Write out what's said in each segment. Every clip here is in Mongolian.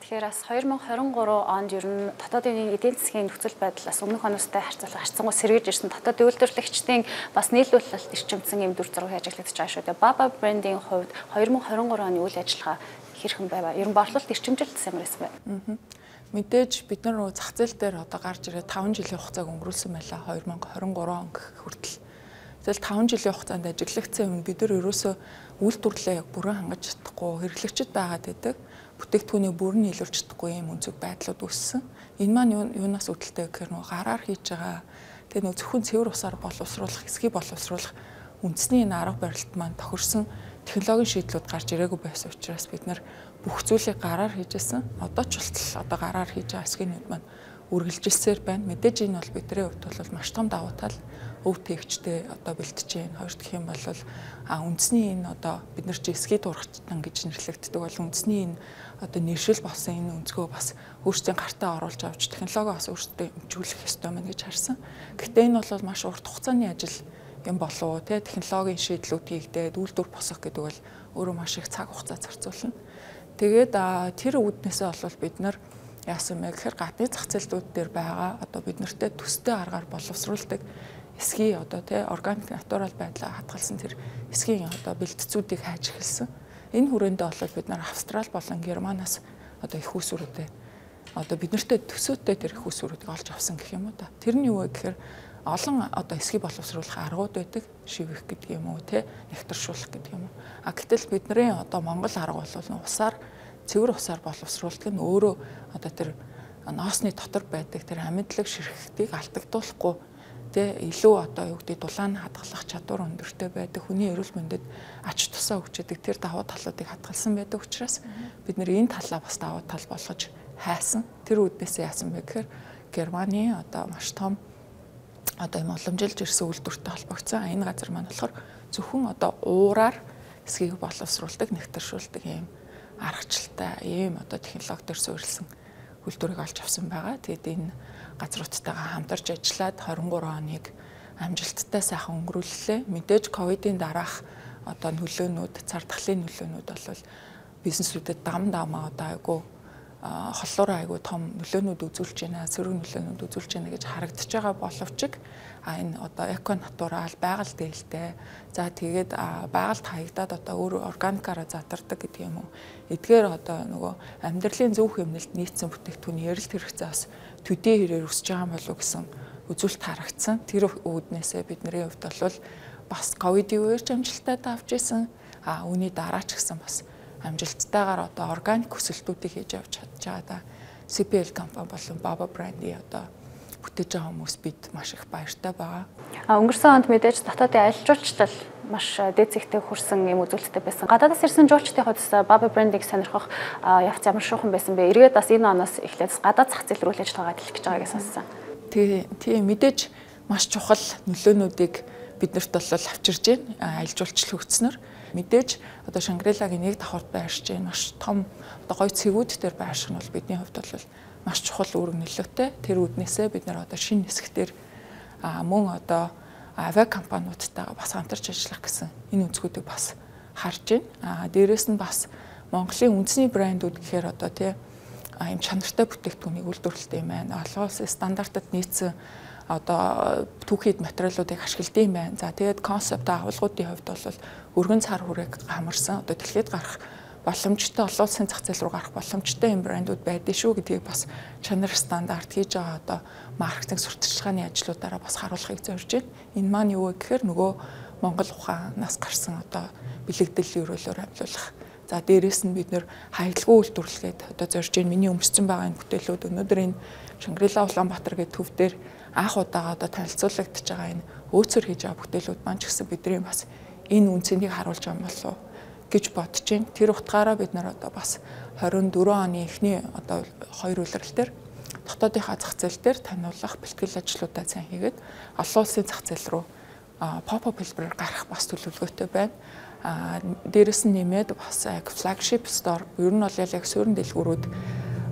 Тэгэхээр бас 2023 онд ер нь дотоодын эдийн засгийн нөхцөл байдлаас өмнөх оноостой харьцангуй сэргийж ирсэн дотоод үйлдвэрлэгчдийн бас нийлүүлэлт эрчимсэн юм дүр зураг ажиглагдаж байгаа шүү дээ. Baba brand-ийн хувьд 2023 оны үйл ажиллагаа хэрхэн байв? Ер нь борлуулалт эрчимжилт ямар байсан бэ? Мэдээж бид нар зах зээл дээр одоо гарч ирээд 5 жилийн хугацааг өнгөрүүлсэн байлаа 2023 он хүртэл. Тэгэл 5 жилийн хугацаанд ажиглагдсан юм бид нар ерөөсөө үйлдвэрлэлээ бүрэн хангаж чадахгүй хэрэглэгчд байгаад байдаг. Бүтээгдэхүүний бүрэн нийлүүлж чадахгүй юм өнцөг байдлууд үүссэн. Энэ маань юунаас үүдэлтэй гэхээр нөгөө гараар хийж байгаа тэгээ нөгөө зөвхөн цэвэр усаар боловсруулах, эсгий боловсруулах үндэсний энэ арга барилт маань тохирсон технологийн шийдлүүд гарч ирээгүй байсан учраас бид нар бүх зүйлийг гараар хийжсэн. Одоо ч болтол одоо гараар хийж байгаа эсгийнүүд маань үргэлжилсээр байна. Мэдээж энэ бол бидний хувьд бол маш том давуу тал өв тээгчтэй одоо бэлтэж байна. Хоёр дахь юм бол үндэсний энэ одоо бид нар чи эсгий дургачтан гэж нэрлэгддэг бол үндэсний энэ одоо нэршил болсон энэ өнцгөө бас өөрсдийн гартаа оруулж авч технологи бас өөрсдөө хөгжүүлэх ёстой мэн гэж харсан. Гэхдээ энэ бол маш урт хугацааны ажил юм болов уу те технологийн шийдлүүд хийгдээд үйлдвэр босгох гэдэг бол өөрөө маш их цаг хугацаа зарцуулна. Тэгээд тэр үүднээсээ бол бид нар яасан бэ гэхээр гадны зах зээлүүд дээр байгаа одоо бид нартэй төстэй аргаар боловсруулдаг эсгий одоо те органик натурал байдлаа хадгалсан тэр эсгийн одоо бэлтцүүдийг хайж эхэлсэн. Энэ хүрээндээ бол бид нар Австрали болон Германаас одоо их усүрүүдээ одоо бид нартэй төсөөтэй тэр их усүрүүдийг олж авсан гэх юм уу та. Тэр нь юу вэ гэхээр олон одоо эсгий боловсруулах аргууд байдаг. Шивэх гэдэг юм уу те нэгтаршуулах гэдэг юм уу. Гэтэл бидний одоо Монгол арга бол усаар цэвэр усаар боловсруулдаг нь өөрөө одоо тэр ноосны дотор байдаг тэр амьдлаг ширхтийг алдагдуулахгүй тэ илүү одоо юу гэдэг дулаан хадгалах чадвар өндөртэй байдаг хүний эрүүл мэндэд ач тусаа өгчөдөг тэр давуу талуудыг хадгалсан байдаг учраас бид нэр энэ талаа бас давуу тал болгож хайсан. Тэр үүднээс яасан бэ гэхээр Германы одоо маш том одоо юм уламжилж ирсэн үйлдвэртэй холбогдсон. Энэ газар маань болохоор зөвхөн одоо уураар эсгийг боловсруулдаг, нэгтаршуулдаг юм аргачлалтай ийм одоо технологи төр суурилсан үйлдвэрийг олж авсан байгаа. Тэгээд энэ газруудтайгаа хамтарч ажиллаад 23 оныг амжилттай сайхан өнгөрүүллээ. Мэдээж ковидын дараах одоо нөлөөнүүд, цардахлын нөлөөнүүд бол бизнесүүдэд дамаа одоо айгу холлоор айгу том нөлөөнүүд үзүүлж байна, сөрөг нөлөөнүүд үзүүлж байна гэж харагдаж байгаа боловч энэ одоо эко натурал байгаль дээлтэй. За тэгээд байгальд хаягдаад одоо өөр органикаараа задардаг гэдэг юм уу. Эдгээр одоо нөгөө амьдралын зөв хэмнэлд нийцсэн бүтээгдэхүүний эрэлт хэрэгцээ бас төдий хэрээр өсөж байгаа болов уу гэсэн үзүүлэлт харагдсан. Тэр үүднээсээ бидний хувьд бол бас ковидын үеэр амжилттай давж исэн. Үүний дараа ч гэсэн бас амжилттайгаар одоо органик өсөлтүүдийг хийж явж чадж байгаа. CPL компани болон Baba brand-ийн одоо бүтээж байгаа хүмүүс бид маш их баяртай байгаа. Өнгөрсөн онд мэдээж дотоодын аялал жуулчлал маш дээд зэгтээ хүрсэн юм үзүүлэлттэй байсан. Гадаадаас ирсэн жуулчдын хувьд Baba brand-ийг сонирхох явц ямар шуухан байсан бэ? Эргээд бас энэ оноос эхлээд гадаад зах зээл рүү л ажиллагаа хэлэх гэж байгааг сонссон. Тийм мэдээж маш чухал нөлөөнүүдийг биднэрт бол авчирж байна. Аялал жуулчлал хөгжснөр мэдээж одоо Шангрилагийн нэг давхарт байршиж байна. Маш том одоо гоё цэгүүд дээр байрших нь бол бидний хувьд бол маш чухал үүрэг нөлөөтэй. Тэр үүднээсээ бид нар одоо шинэ хэсэгтэр мөн одоо авиа компаниудтайгаа бас хамтарч ажиллах гэсэн энэ өнцгүүдийг бас харж байна. Дээрээс нь бас Монголын үндэсний брэндүүд гэхээр одоо тийм юм чанартай бүтээгдэхүүнийг үйлдвэрлэдэг юм байна. Олон улсын стандартад нийцсэн одоо түүхийд материалуудыг ашигладаг юм байна. За тэгээд концепт агуулгуудын хувьд бол өргөн цар хүрээг хамарсан одоо дэлхийд гарах боломжтой олон улсын зах зээл рүү гарах боломжтой юм брэндүүд байдаг шүү гэдгийг бас чанар стандарт хийж байгаа одоо маркетинг сурталчилгааны ажлуудаараа бас харуулахыг зорж байна. Энэ маань юу вэ гэхээр нөгөө Монгол ухаанаас гарсан одоо бэлэгдэл өрөөлөөр амжуулах. За дээрээс нь бид нэр хаягдлагүй үйлдвэрлэгээд одоо зорж байна. Миний өмссөн байгаа энэ бүтээлүүд өнөөдөр энэ Шангрила Улаанбаатар гэдэг төв дээр анх удаага одоо танилцуулагдж байгаа энэ өөцөр хийж байгаа бүтээлүүд маань ч гэсэн бидний бас энэ үнцнийг харуулж байгаа болов гэж бодож байна. Тэр утгаараа бид нар одоо бас 24 оны эхний одоо 2 улирал дээр дотоодынхаа зах зээл дээр таниулах бэлтгэл ажлуудаа сайн хийгээд олон улсын зах зээл рүү pop-up хэлбэрээр гарах бас төлөвлөгөөтэй байна. Дээрээс нь нэмээд бас flagship store ер нь бол яг суурин дэлгүүрүүд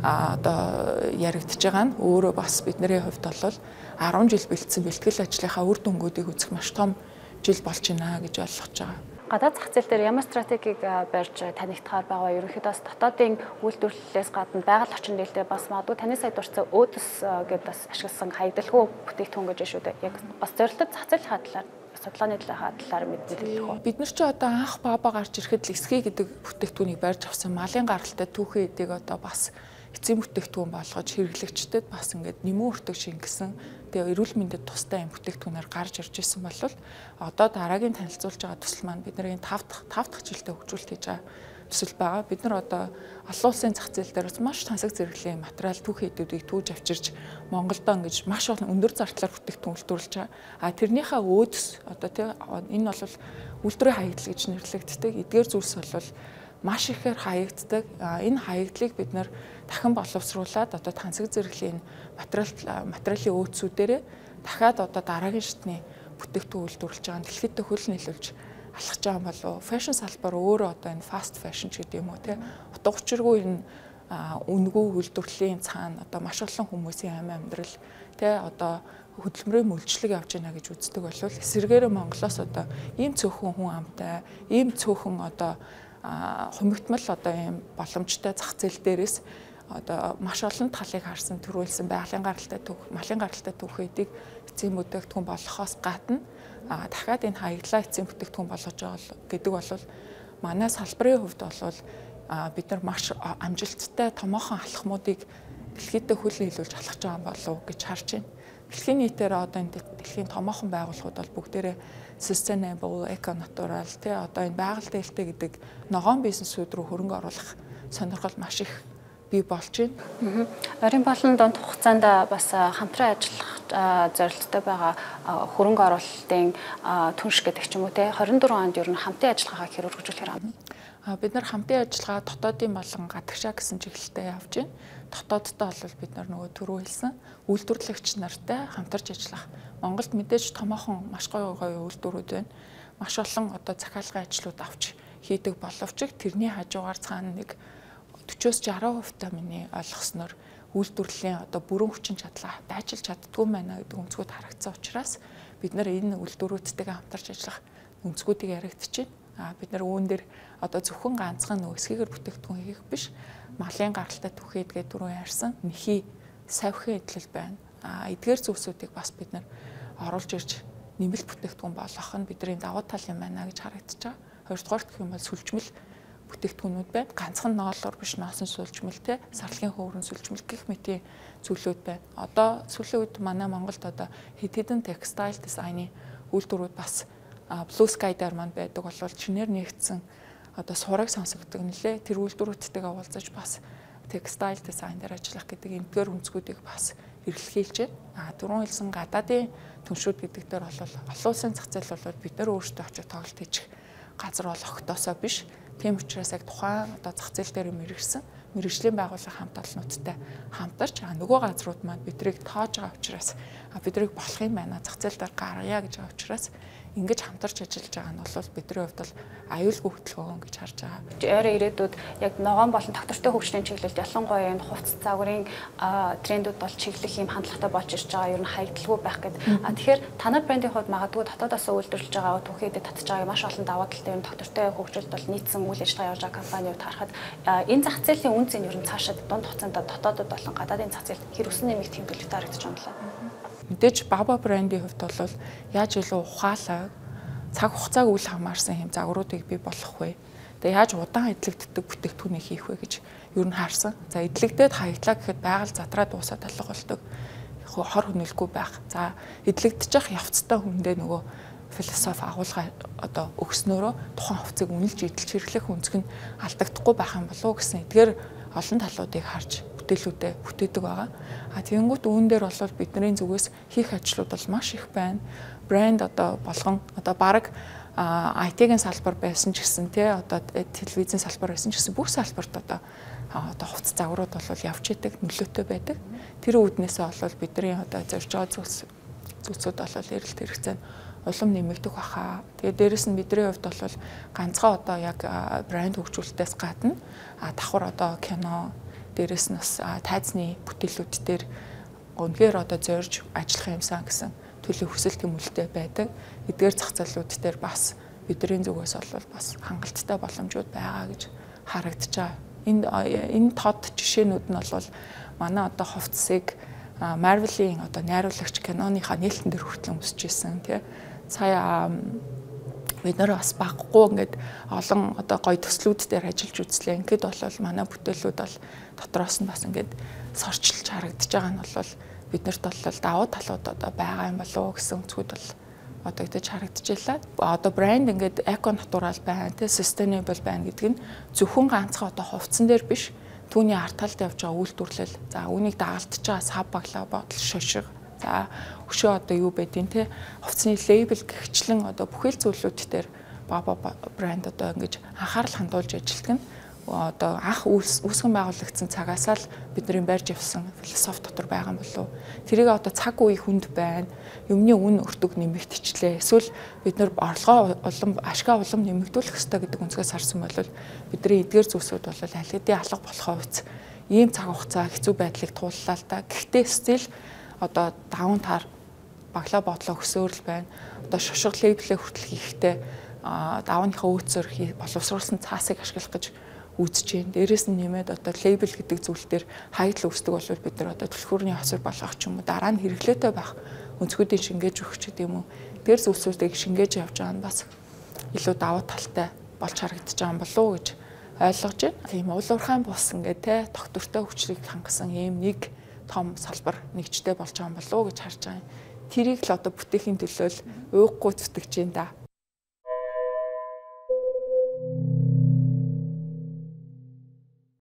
одоо яригдж байгаа нь өөрөө бас бидний хувьд бол 10 жил бэлдсэн бэлтгэл ажлынхаа үр дүнгуудыг үзэх маш том жил болж байна гэж ойлгож байгаа. Гадаад зах зээл дээр ямар стратегийг барьж танигдахаар байгаа. Ерөнхийдөө дотоодын үйлдвэрлэлээс гадна байгаль орчин нээлттэй бас магадгүй таны сая дурдсан өөдөс гэдээ бас ашигласан хаягдalгүй бүтээгдэхүүн гэж шүү дээ. Яг бас зорилттой зах зээлийн талаар судалгааны талаар мэдээлэх үү. Бид нар ч одоо анх баба гарч ирэхэд л эсхий гэдэг бүтээгдэхүүнийг барьж авсан малын гаралтай түүхэн эдийг одоо бас эцсийн бүтээгдэхүүн болгож хэрэглэгчдэд бас ингээд нэмэн өртөг шингэсэн тэгээ эрүүл мэндэд тустай юм бүтээгдэхүүнээр гарч ирж исэн бол одоо дараагийн танилцуулж байгаа төсөл маань бидний 5 дахь жилдээ хөгжүүлэлт хийж байгаа төсөл байгаа. Бид нар одоо олон улсын зах зээл дээр маш тансаг зэрэглэлийн материал түүхэн эдүүдийг түүж авчирч Монголдо ингэж маш олон өндөр зардлаар бүтээгдэхүүн үйлдвэрлэж байгаа. А тэрнийхээ өөдөс одоо тийм энэ бол үйлдвэрийн хаягдал гэж нэрлэгддэг. Эдгээр зүйлс бол маш ихээр хаягддаг. Энэ хаягдлыг бид нар дахин боловсруулад одоо тансаг зэрэглэлийн материалын өөдсүүдээрээ дахиад одоо дараагийн шатны бүтээгдэхүүн үйлдвэрлэж байгаа дэлхийд хөл нийлүүлж алхаж байгаа болов. Фэшн салбар өөрөө одоо энэ фаст фэшн ч гэдэг юм уу те. Утга учиргүй энэ үнэгүй үйлдвэрлэлийн цаана одоо маш олон хүмүүсийн амьдрал те одоо хөдөлмөрийн мөлжлөг явж байна гэж үздэг болвол эсвэргээр Монголоос одоо ийм цөөхөн хүн амтай, ийм цөөхөн одоо хумигтмал одоо ийм боломжтой зах зээл дээрээс одоо маш олон талыг харсан төрүүлсэн байгалийн гаралтай түүх, малын гаралтай түүхүүдийг эцсийн бүтээгдэхүүн болгохоос гадна дахиад энэ хаягдлаа эцсийн бүтээгдэхүүн болгож байгаа гэдэг бол манай салбарын хувьд бол бид нар маш амжилттай томоохон алхмуудыг дэлхийдээ хөл нийлүүлж алхаж байгаа болов гэж харж байна. Дэлхийн нийтээр одоо энэ дэлхийн томоохон байгууллагууд бол бүгдээрээ sustainable, eco-natural тий одоо энэ байгаль дээлтэй гэдэг ногоон бизнесүүд рүү хөрөнгө оруулах сонирхол маш их бий болж байна. Орон болон дунд хугацаанд бас хамтран ажиллах зорилттой байгаа хөрөнгө оруулалтын түнш гэдэг ч юм уу те 24 онд ер нь хамтын ажиллагаагаа хэр өргөжүүлэхээр байна. Бид нар хамтын ажиллагаа дотоодын болон гадагшаа гэсэн чиглэлтэй явж байна. Дотооддоо бол бид нар нөгөө түрүү хэлсэн үйлдвэрлэгч нартай хамтарч ажиллах. Монголд мэдээж томоохон маш гоё үйлдвэрүүд байна. Маш олон одоо захиалгын ажлууд авч хийдэг боловч тэрний хажуугаар цаана нэг 40-60% та миний ойлгосноор үйлдвэрлэлийн одоо бүрэн хүчин чадлаа дайчилж чаддгүй байна гэдэг өнцгүүд харагдсан учраас бид нар энэ үйлдвэрүүдтэйгээ хамтарч ажиллах өнцгүүдийг яригдчихэв. Бид нар үүн дээр одоо зөвхөн ганцхан нөө эсгээр бүтээгдэхүүн хийх биш малын гаралтай түүхийдгээ түрүү ярьсан нэхий савхын эдлэл байна. Эдгээр зүйлсүүдийг бас бид нар оруулж ирж нэмэлт бүтээгдэхүүн болгох нь бидний давуу тал юм байна гэж харагдаж байгаа. Хоёрдугаар гэх юм бол сүлжмэл бүтээгдэхүүнүүд байна. Ганцхан ноолоор биш ноосон сүлжмэл те сарлгийн хөөрөн сүлжмэл гэх мэтийн зүйлүүд байна. Одоо сүүлийн үед манай Монголд одоо хэд хэдэн текстайл дизайны үйлдвэрүүд бас Blue Sky дээр маань байдаг болвол чинээр нэгдсэн одоо сураг сонсогддог нэлээ тэр үйлдвэрүүдтэйгээ уулзаж бас текстайл дизайн дээр ажиллах гэдэг эмгээр өнцгүүдийг бас эргэлхийлж байна. Дөрөв хэлсэн гадаадын түншүүд гэдэг дээр бол олон улсын зах зээл бол бид нар өөрсдөө очиж тоглолт хийчих газар бол огтосоо биш. Тийм учраас яг тухайн одоо зах зээл дээр мэрэгсэн мэрэгжлийн байгууллага хамт олоннуудтай хамтарч нөгөө газрууд маань бидрийг тоож байгаа учраас бидрийг болох юм байна. Зах зээл дээр гаргая гэж байгаа учраас ингэж хамтарч ажиллаж байгаа нь бол бидний хувьд бол аюулгүй хөдөлгөөн гэж харж байгаа. Ойрын ирээдүйд яг ногоон болон доктортой хөгжлийн чиглэлд ялангуяа энэ хувцас загварын трендүүд бол чиглэх юм хандлагатай болж ирж байгаа. Ер нь хаягдalгүй байх гэдэг. Тэгэхээр танай брендийн хувьд магадгүй дотоодоос үйлдвэрлэж байгаа түүхийдэд татж байгаа маш олон даваа талтай юм доктортой хөгжилд бол нийцсэн үйл ажиллагаа явуулж байгаа компаниуд харахад энэ зах зээлийн үн цэн ер нь цаашаа дунд хугацаанд дотоодод болон гадаадын зах зээл хэр өсөн нэмэх тэмдэглэлтэй харагдаж байна лээ. Мэдээж Baba брендийн хувьд бол яаж илүү ухаалаг цаг хугацааг үл хамаарсан хэм загваруудыг бий болгох вэ? Тэгээ яаж удаан эдлэгддэг бүтээгдэхүүнийг хийх вэ гэж ер нь харсан. За эдлэгдээд хаяглаа гэхэд байгаль задраа дуусаад алга болдог. Хор хөнөөлгүй байх. За эдлэгдэж явцтай хүндээ нөгөө философи агуулга одоо өгснөөрөө тухайн хувцсыг үнэлж эдэлж хэрэглэх өнцг нь алдагдахгүй байх юм болов уу гэсэн эдгээр олон талуудыг харж бүтээлүүдэд бүтээдэг байгаа. Тэгэнгүүт үүн дээр бол бидний зүгээс хийх ажлууд бол маш их байна. Брэнд одоо болгон одоо баг IT-ийн салбар байсан ч гэсэн тий одоо телевизийн салбар байсан ч гэсэн бүх салбарт одоо хувцас загварууд бол явж идэг нөлөөтэй байдаг. Тэр үүднээсээ бол бидний одоо зорж байгаа зүйлсүүд бол эрэлт хэрэгцээнд улам нэмэгдэх баха. Тэгээд дээрэс нь бидний хувьд бол ганцхан одоо яг брэнд хөгжүүлэлтээс гадна давхар одоо кино дээрэс нь бас тайзны бүтээлүүд дээр өнгээр одоо зорж ажиллах юмсан гэсэн төлөв хүсэл тэмүүлэлтэй байдаг. Эдгээр зах зээлүүд дээр бас бидний зүгээс бол бас хангалттай боломжууд байгаа гэж харагдаж байгаа. Энэ тод жишээнүүд нь бол манай одоо хувцсыг Marvel-ийн одоо найруулагч киноныхаа нээлтэн дээр хүртэл өмсөжсэн тий. Сая бид нэр бас баггүй ингээд олон одоо гоё төслүүд дээр ажиллаж үзлээ. Ингээд бол манай бүтээлүүд бол дотроос нь бас ингээд сорчилж харагдаж байгаа нь бол биднэрт бол давуу талууд одоо байгаа юм болов уу гэсэн үзгүүд бол одоо ингэж харагдаж байлаа. Одоо брэнд ингээд эко натурал байна, тий sustainable байна гэдэг нь зөвхөн ганцхан одоо хувцсан дээр биш, түүний арт талд явж байгаа үйлдвэрлэл, за үүнийг дагалдж байгаа сав баглаа бодол шошиг, за өшөө одоо юу байдیں те хувцсны лейбл гихчлэн одоо бүхэл зүйлүүд дээр Baba брэнд одоо ингэж анхаарал хандуулж ажилладаг нь одоо анх үүсгэн байгуулагдсан цагаас л бидний барьж явсан философи дотор байгаа юм болов. Тэрийг одоо цаг үе хүнд байна. Юмны үн өртөг нэмэгдчихлээ. Эсвэл бид нар орлогоо улам ашгаа улам нэмэгдүүлэх ёстой гэдэг үнцгээс харсан бол бидний эдгээр зүйлсүүд бол аль хэдийн алга болохоо үз. Ийм цаг хугацаа хэцүү байдлыг тууллаа л да. Гэхдээ стил одоо даван таар баглаа бодлоо өсөөрл байна. Одоо шошго лейблээ хүртэл хийхдээ давааныхаа өөцөөр боловсруулсан цаасыг ашиглах гэж үзэж байна. Дээрээс нь нэмээд одоо лейбл гэдэг зүйл дээр хаягдл үүсдэг бол бид нар одоо түлхүүрний хосор болгох ч юм уу дараа нь хэрэглээтэй байх өнцгүүдийг шингээж өгч гэдэг юм уу. Тэр зүйлсүүдийг шингээж явж байгаа нь бас илүү давуу талтай болж харагдаж байгаа юм болов уу гэж ойлгож байна. Ийм уулуурхайн бус ингээд те тогтвортой хүчлийг хангасан ийм нэг том салбар нэгжтэй болж байгаа юм болов уу гэж харж байгаа юм. Тэрийг л одоо бүтээхийн төлөө ууггүй зүтгэж байна да.